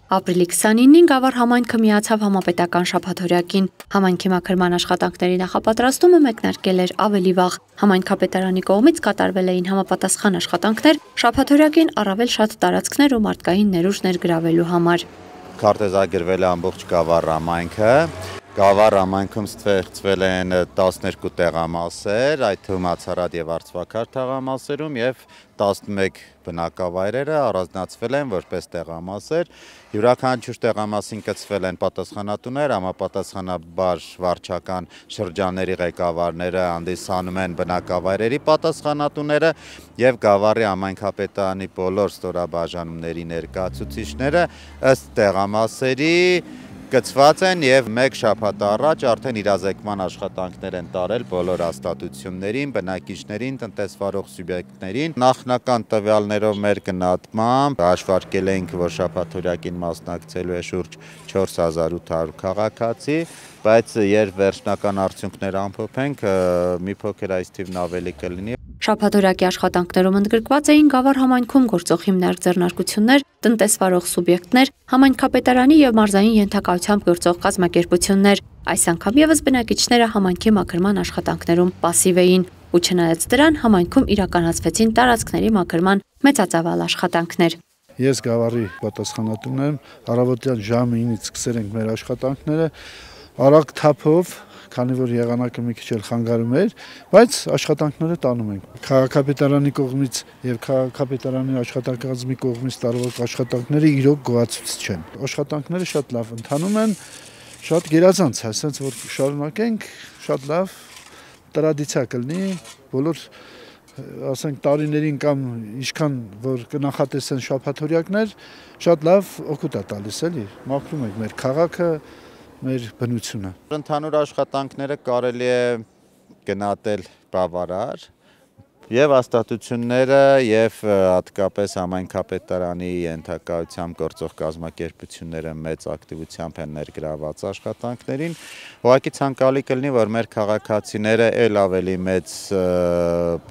Ապրիլի 29-ին Գավառ համայնքը միացավ համապետական շաբաթօրյակին։ Համայնքի մաքրման աշխատանքների նախապատրաստումը մեկնարկել էր ավելի վաղ։ Համայնքապետարանի կողմից կատարվել էին համապատասխան աշխատանքներ շաբաթօրյակին առավել շատ տարածքներ ու մարդկային ներուժ ներգրավելու համար։ Քարտեզագրվել է ամբողջ Գավառ համայնքը։ Գավառ համայնքում ստեղծվել են 12 տեղամասեր, այդ թվում Ացարատ եւ Արցվաքար թաղամասերում եւ 11 բնակավայրերը առանձնացվել են որպես տեղամասեր։ Յուրաքանչյուր տեղամասին կցվել են պատասխանատուներ, համապատասխանաբար վարչական շրջանների ղեկավարները հանդիսանում են բնակավայրերի պատասխանատուները եւ Գավառի համայնքապետարանի բոլոր ստորաբաժանումների ներկայացուցիչները ըստ տեղամասերի գծված են եւ մեկ շաբաթ առաջ արդեն իրազեկման աշխատանքներ են տարել բոլոր հաստատություններին, բնակիչներին, տնտեսվարող սուբյեկտներին։ Նախնական տվյալներով մեր գնահատմամբ հաշվարկել էինք, որ շաբաթօրյակին մասնակցելու է շուրջ 4800 քաղաքացի, բայց երբ վերջնական արդյունքները ամփոփենք, մի փոքր այս թիվն ավելի կլինի։ Շաբաթօրյակի աշխատանքներում ընդգրկված էին Գավառ համայնքում գործող հիմնարկ ձեռնարկություններ, տնտեսվարող սուբյեկտներ, համայնքապետարանի եւ մարզային ենթակայությամբ գործող կազմակերպություններ։ Այս անգամ եւս բնակիչները համայնքի մաքրման աշխատանքներում պասիվ էին, ու չնայած դրան համայնքում իրականացվեցին տարածքների մաքրման մեծածավալ աշխատանքներ։ Ես Գավառի պատասխանատուն եմ, առավոտյան ժամը 9-ից սկսել ենք մեր աշխատանքները, արագ թափով, քանի որ եղանակը մի քիչ էլ խանգարում էր, բայց աշխատանքները տանում ենք։ Քաղաքապետարանի կողմից եւ քաղաքապետարանի աշխատակազմի կողմից տարվող աշխատանքները իրոք գոհացուցիչ չեն։ Աշխատանքները շատ լավ ընթանում են, շատ գերազանց, ասենց որ շարունակենք, շատ լավ տրադիցիա կլինի, բոլոր ասենք տարիներին կամ ինչքան որ կնախատեսեն շաբաթօրյակներ, շատ լավ օգուտ է տալիս էլի, մաքրում ենք մեր քաղաքը, մեր բնությունը։ Ընդհանուր աշխատանքները կարելի է գնահատել բավարար եւ հաստատությունները եւ հատկապես համայնքապետարանի ենթակայությամբ գործող կազմակերպությունները մեծ ակտիվությամբ են ներգրաված աշխատանքներին։ Ուղղակի ցանկալի կլինի, որ մեր քաղաքացիները ել ավելի մեծ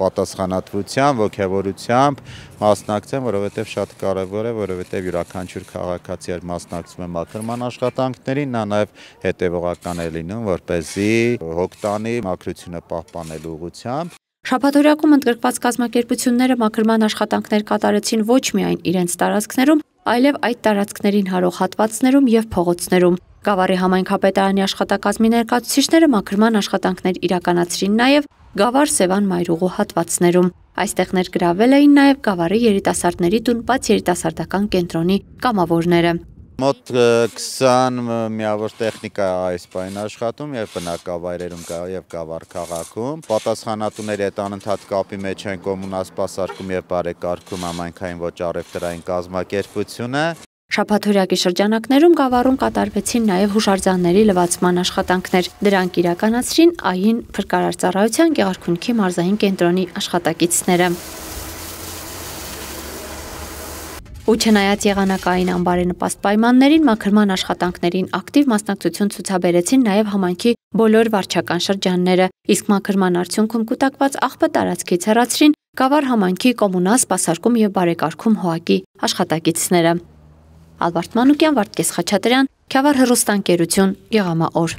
պատասխանատվությամբ, ոգևորությամբ մասնակցեն, որովհետեւ շատ կարեւոր է, որովհետեւ յուրաքանչյուր քաղաքացի մասնակցում է մաքրման աշխատանքներին, նա նաեւ հետեւողական է լինում, որպեսզի հոգ տանի մաքրությունը պահպանելու ուղղությամբ։ Շաբաթօրյակում ընդգրկված կազմակերպությունները մաքրման աշխատանքներ կատարեցին ոչ միայն իրենց տարածքներում, այլև այդ տարածքներին հարող հատվածներում եւ փողոցներում։ Գավառի համայնքապետարանի աշխատակազմի ներկայացուցիչները մաքրման աշխատանքներ իրականացրին նաեւ Գավառ Սևան Մայրուղու հատվածներում։ Այստեղ ներգրավել էին նաեւ Գավառի երիտասարդների տուն բաց երիտասարդական կենտրոնի կամավորները։ Մոտ 20 միավոր տեխնիկա այս պահին աշխատում եւ բնակավայրերում եւ Գավառ քաղաքում։ Պատասխանատուների հետ անընդհատ կապի մեջ են կոմունասպասարկում եւ բարեկարգում համայնքային ոչ առևտրային կազմակերպությունը։ Շաբաթօրյակի շրջանակներում Գավառում կատարվեցին նաև հուշարձանների լվացման աշխատանքներ։ Դրանք իրականացրին ԱԻ-ն փրկարարծառայության Գեղարքունիքի մարզային կենտրոնի աշխատակիցները։ Ու չնայած եղանակային անբարենպաստ պայմաններին մաքրման աշխատանքներին ակտիվ մասնակցություն ցուցաբերեցին նաև համայնքի բոլոր վարչական շրջանները, իսկ մաքրման արդյունքում կուտակված աղբը տարածքից հեռացրին Գավառ համայնքի կոմունալ սպասարկում եւ բարեկարգում ՀՕԱԿ-ի աշխատակիցները։ Ալբարտ Մանուկյան, Վարդգես Խաչատրյան, Քյավառ հեռուստաընկերություն, Եղամաօր։